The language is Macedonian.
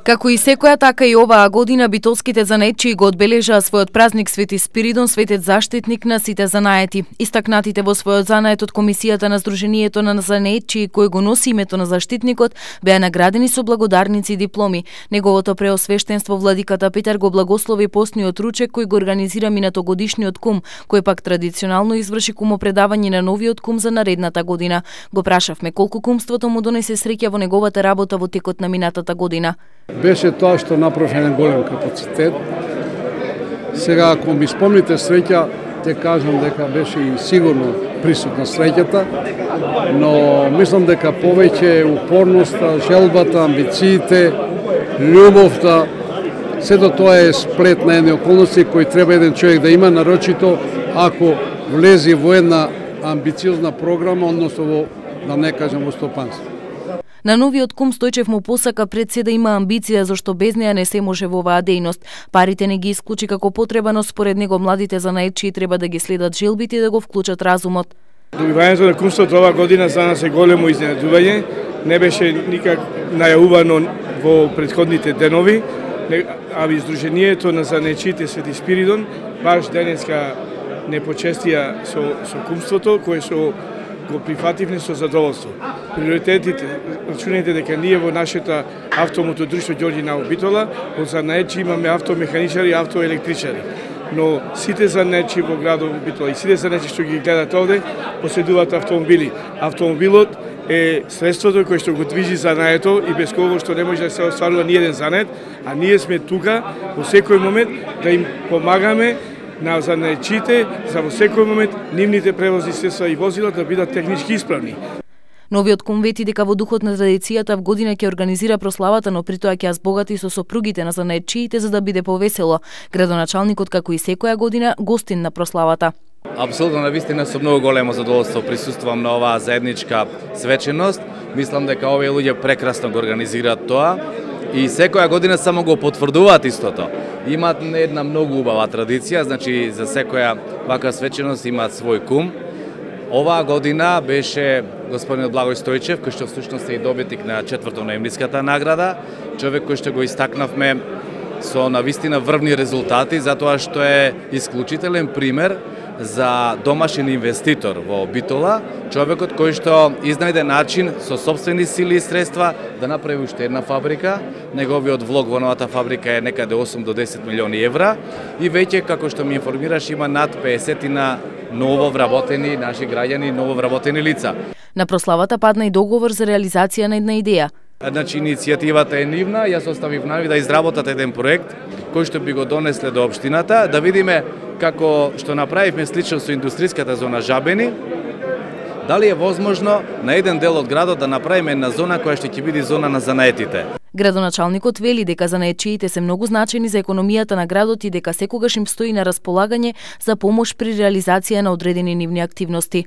Како и секоја, така и оваа година битолските занаетчии го одбележаа својот празник Свети Спиридон, светец заштитник на сите занаети. Истакнатите во својот занает од Комисијата на Сдруженијето на занаетчии, кој го носи името на заштитникот, беа наградени со благодарници и дипломи. Неговото преосвештенство владиката Петар го благослови постниот ручек кој го организира минатогодишниот кум, кој пак традиционално изврши кумопредавање на новиот кум за наредната година. Го прашавме колку кумството му донесе среќа во неговата работа во текот на минатата година. Беше тоа што направи еден голем капацитет. Сега, ако ми спомните среќа, те кажам дека беше и сигурно присутна среќата, но мислам дека повеќе упорноста, желбата, амбициите, љубовта, сето тоа е сплет на едни околности кои треба еден човек да има, нарочито ако влези во една амбициозна програма, односно во, да не кажем, во стопанство. На новиот кум Стојчев му посака пред се да има амбиција, зашто без неа не се може во оваа дејност. Парите не ги исклучи како потреба, но според него младите занаетчии треба да ги следат желбите и да го вклучат разумот. Добивањето на кумството оваа година за нас е големо изненадување. Не беше никак најавувано во претходните денови, а Сдруженијето на занаетчиите Свети Спиридон баш денеска не почестија со кумството, кое што го прифативме со задоволство. Приоритетите, рачунајте дека ние во нашата автомото друштво Ѓорѓи Наум Битола, во занаетчи имаме автомеханичари и автоелектричари. Но сите занаетчи во градот Битола и сите занаетчи што ги гледат овде, поседуваат автомобили. Автомобилот е средството кое што го движи занаето и без кого што не може да се остварува ни еден занает, а ние сме тука во секој момент да им помагаме на занаетчите за во секој момент нивните превозни средства и возила да бидат технички исправни. Новиот кум вети дека во духот на традицијата в година ќе организира прославата, но при тоа ќе ја збогати со сопругите на занаетчиите за да биде повесело. Градоначалникот, како и секоја година, гостин на прославата. Апсолутно, навистина со многу големо задоволство присуствувам на оваа заедничка свеченост. Мислам дека овие луѓе прекрасно го организираат тоа и секоја година само го потврдуваат истото. Имаат една многу убава традиција, значи за секоја вака свеченост имаат свој кум. Оваа година беше господинот Благој Стојчев, кој што всушност е и добитник на 4-то ноемвриската награда, човек кој што го истакнавме со навистина врвни резултати, затоа што е исклучителен пример за домашен инвеститор во Битола, човекот кој што изнајде начин со сопствени сили и средства да направи уште една фабрика. Неговиот влог во новата фабрика е некаде 8 до 10 милиони евра и веќе, како што ми информираш, има над 50 ново вработени наши граѓани, ново вработени лица. На прославата падна и договор за реализација на една идеја. Значи, иницијативата е нивна, јас оставив нави да изработат еден проект кој што би го донесле до општината, да видиме како што направивме слично со индустријската зона Жабени, дали е возможно на еден дел од градот да направиме една зона која што ќе биде зона на занаетите. Градоначалникот вели дека занаетчиите се многу значени за економијата на градот и дека секогаш им стои на располагање за помош при реализација на одредени нивни активности.